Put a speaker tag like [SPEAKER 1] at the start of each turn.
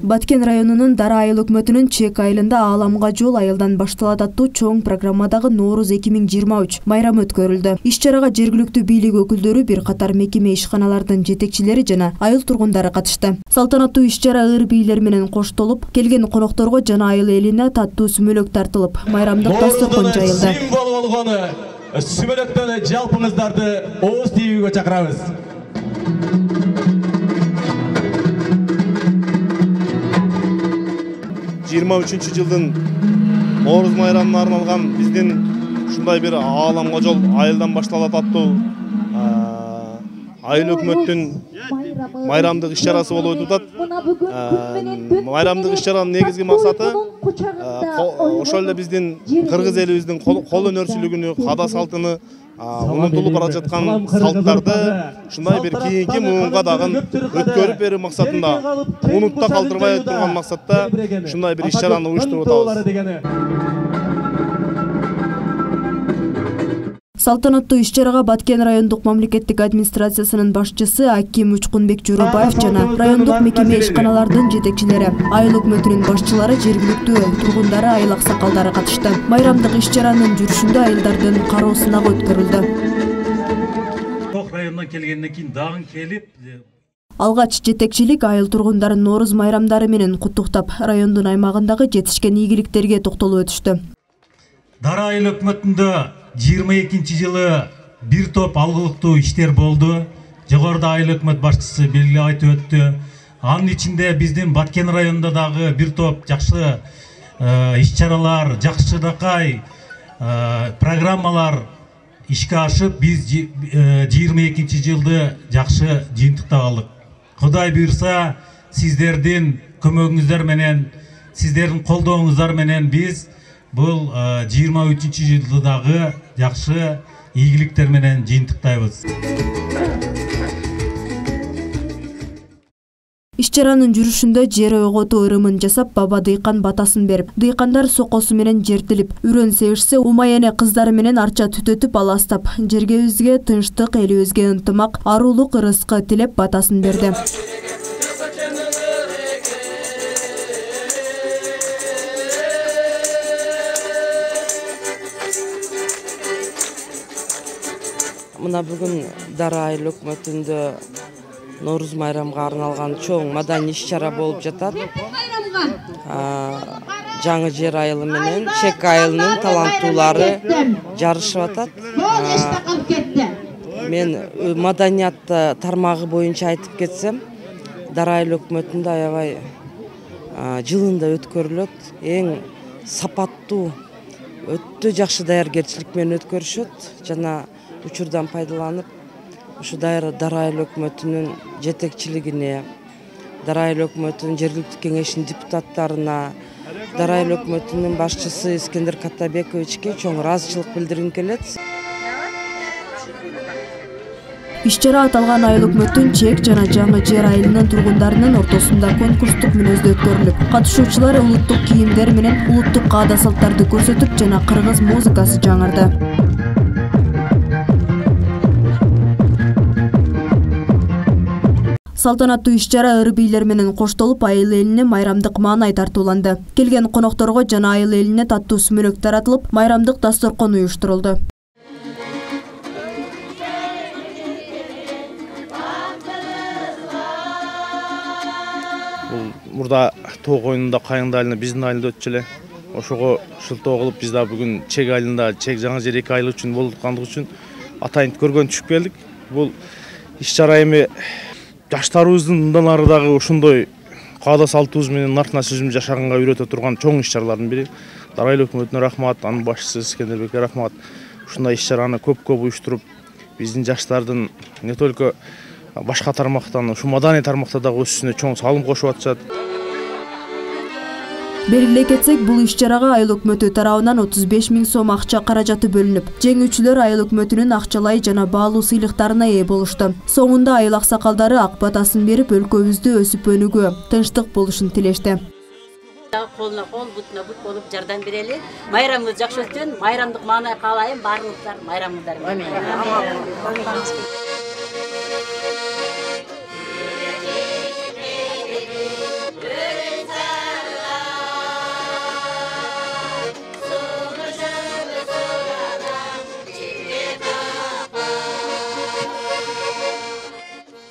[SPEAKER 1] Баткен районунун Дара айыл өкмөтүнүн Чек айылында ааламга жол айылдан башталат аттуу чоң программадагы Нооруз 2023 майрамы өткөрүлдү. Иш-чарага жергиликтүү бийлик өкүлдөрү, бир катар мекеме ишканалардын жетекчилери жана айыл тургундары катышты. Салтанаттуу иш-чара ыр бийлер менен коштолуп, келген конокторго жана айыл элине таттуу сүмөлөк тартылып, майрамдык дасторкон жайылды.
[SPEAKER 2] Символ болгону сүмөлөктөн жалпыңыздарды ооз тийүүгө чакырабыз.
[SPEAKER 3] Жылдын Нооруз майрамына арналган биздин ушундай бир ааламга жол айылдан башталат аттуу айыл өкмөттүн майрамдык иш-чарасы болуп өтүп атат. Майрамдык иш-чаранын негизги максаты ошол эле биздин кыргыз элибиздин кол өнөрчүлүгүнү, каада салтыны, унутулуп бара жаткан салттарды ушундай бир кийинки муунга дагы өткөрүп берүү максатында, унутта калтырбай турган максатта ушундай бир иш-чараны уюштуруп атабыз.
[SPEAKER 1] Салтанаттуу иш-чарага Баткен райондук мамлекеттик администрациясынын башчысы Аким Учкунбек Журубаев жана райондук мекеме ишканалардын жетекчилери, айыл өкмөтүнүн башчылары, жергиликтүү тургундары, айыл аксакалдары катышты. Майрамдык иш-чаранын жүрүшүндө айылдардын кароо сынагы өткөрүлдү.
[SPEAKER 4] Ток районунан келгенден кийин дагы келип
[SPEAKER 1] Алгач жетекчилик айыл тургундарын Нооруз майрамдары менен куттуктап, райондун аймагындагы жетишкен ийгиликтерге токтолуп өтүштү.
[SPEAKER 4] Дара айыл өкмөтүндө 22-жылы бир топ алгылыктуу иштер болду. Жогоруда айыл өкмөт башчысы белгилеп айтып өттү. Анын ичинде биздин Баткен районунда дагы бир топ жакшы иш-чаралар, жакшынакай программалар ишке ашып, биз 22-жылды жакшы жыйынтыктап алдык. Кудай буйрса, сиздердин көмөгүңүздөр менен, сиздердин колдооңуздар менен биз бул 23-жылды дагы жакшы ийгиликтер менен жыйынтыктайбыз.
[SPEAKER 1] Иш-чаранын жүрүшүндө жер ойготуу ырымын жасап, баба дыйкан батасын берип, дыйкандар сокосу менен жертилип, үрөн себишсе, умаяне кыздары менен арча түтөтүп аластап, жергебизге тынчтык, элибизге ынтымак, аруулук, ырыскы тилеп батасын берди.
[SPEAKER 5] Мына бүгүн Дара айыл өкмөтүндө Нооруз майрамга арналган чоң маданий иш-чара болуп жатат. Жаңы жер айылы менен Чек айылынын таланттуулары жарышып атат. Мен маданият тармагы боюнча айтып кетсем, Дара айыл өкмөтүндө аябай жылында өткөрүлөт. Эң сапаттуу, өтө жакшы даяргерчилик менен өткөрүшөт жана учурдан пайдаланып, ушу Дара айыл өкмөтүнүн жетекчилигине, Дара айыл өкмөтүнүн жергиликтүү кеңешинин депутаттарына, Дара айыл өкмөтүнүн башчысы Искендер Каттабековичке чоң ыраазычылык билдиргим келет.
[SPEAKER 1] Иш-чара аталган айыл өкмөттүн Чек жана жаңы жер айылынын тургундарынын ортосунда конкурстук мүнөздө өткөрүлүп, катышуучулар улуттук кийимдер менен улуттук каада салттарды көрсөтүп жана кыргыз музыкасы жаңырды. Салтанаттуу иш-чара ыр бийлер менен коштолуп, айыл элине майрамдык маанай тартууланды. Келген конокторго жана айыл элине таттуу сүмөлөк таратылып, майрамдык дасторкон уюштурулду.
[SPEAKER 3] Мурда тоо коюнунда Кайыңды айылында, биздин айылда өтчү эле. Ошого шылтоо кылып, биз да бүгүн Чек айылында, Чек жаңы жер 2 айыл үчүн болуп аткандыгы үчүн атайын көргөн түшүп келдик. Бул иш-чара эми жаштарыбыздын мындан ары дагы ошондой каада салтыбыз менен нартына сөзүм жашаганга үйрөтө турган чоң иш-чаралардын бири. Дара айыл өкмөтүнө рахмат, анын башчысы Искендербекке рахмат. Ушундай иш-чараны көп уюштуруп, биздин жаштардын не только башка тармактан, ушу маданий тармакта дагы өсүшүнө чоң салым кошуп атышат.
[SPEAKER 1] Белгилей кетсек, бул иш-чарага айыл өкмөтү тарабынан 35 000 сом акча каражаты бөлүнүп, жеңүүчүлөр айыл өкмөтүнүн акчалай жана баалуу сыйлыктарына ээ болушту. Соңунда айыл аксакалдары ак батасын берип, өлкөбүздө өсүп өнүүгө, тынчтык болушун тилешти.
[SPEAKER 6] Колуна кол, бутуна бут болуп жардам берели. Майрамыңыз жакшы өтсүн, майрамдык маанай каалайм, баарыңыздар майрамыңыздар менен.